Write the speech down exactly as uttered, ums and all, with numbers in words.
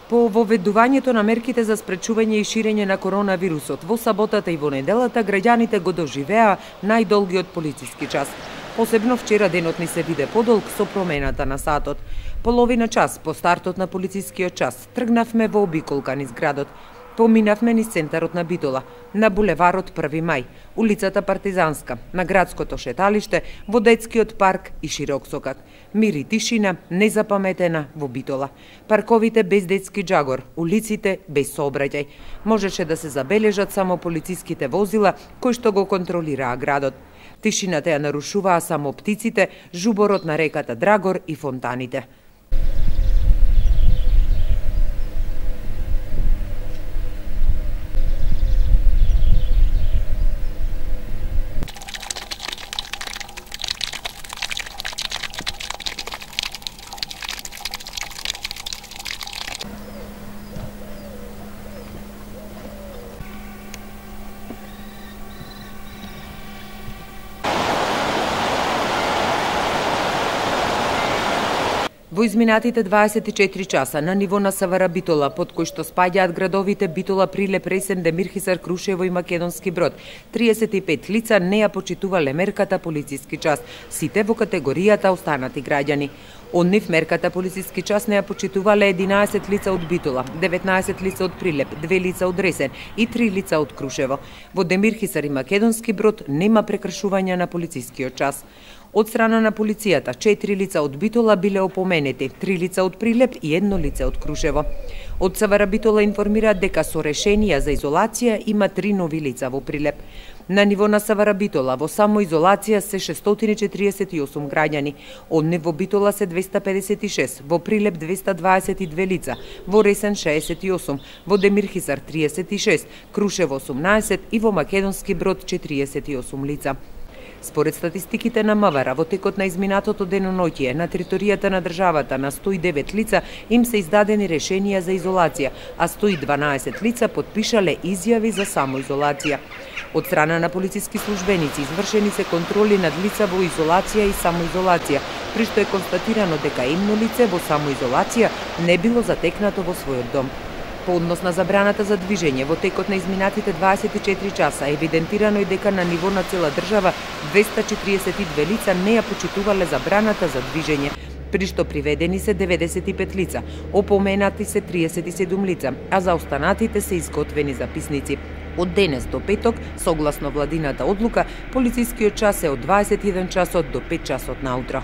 По воведувањето на мерките за спречување и ширење на коронавирусот во саботата и во неделата, граѓаните го доживеа најдолгиот полициски час. Посебно вчера денот ни се виде подолг со промената на сатот. Половина час по стартот на полицискиот час тргнавме во обиколка низ градот. Поминавме низ центарот на Битола, на булеварот први мај, улицата Партизанска, на градското шеталиште, во детскиот парк и широк сокак. Мир и тишина незапаметена во Битола. Парковите без детски джагор, улиците без сообраќај. Можеше да се забележат само полициските возила кои што го контролираа градот. Тишината ја нарушуваа само птиците, жуборот на реката Драгор и фонтаните. Во изминатите дваесет и четири часа на ниво на СВР Битола, под кој што спаѓаат градовите Битола, Прилеп, Ресен, Демирхисар, Крушево и Македонски Брод, триесет и пет лица не ја почитувале мерката полициски час, сите во категоријата останати граѓани. Од нив мерката полициски час не ја почитувале единаесет лица од Битола, деветнаесет лица од Прилеп, две лица од Ресен и три лица од Крушево. Во Демирхисар и Македонски Брод нема прекршување на полицискиот час. Од страна на полицијата, четири лица од Битола биле опоменети, три лица од Прилеп и едно лице од Крушево. Од СВР Битола информираат дека со решенија за изолација има три нови лица во Прилеп. На ниво на СВР Битола во самоизолација се шестстотини и четириесет и осум граѓани, од нив во Битола се двеста педесет и шест, во Прилеп двеста дваесет и две лица, во Ресен шеесет и осум, во Демирхисар триесет и шест, Крушево осумнаесет и во Македонски Брод четириесет и осум лица. Според статистиките на МВР, во текот на изминатото деноноќие на територијата на државата на сто и девет лица им се издадени решенија за изолација, а сто и дванаесет лица потпишале изјави за самоизолација. Од страна на полициски службеници извршени се контроли над лица во изолација и самоизолација, при што е констатирано дека едно лице во самоизолација не било затекнато во својот дом. По однос на забраната за движење, во текот на изминатите дваесет и четири часа евидентирано е дека на ниво на цела држава двеста четириесет и две лица не ја почитувале забраната за движење, при што приведени се деветдесет и пет лица, опоменати се триесет и седум лица, а за останатите се изготвени записници. Од денес до петок, согласно владината одлука, полицискиот час е од дваесет и еден часот до пет часот наутро.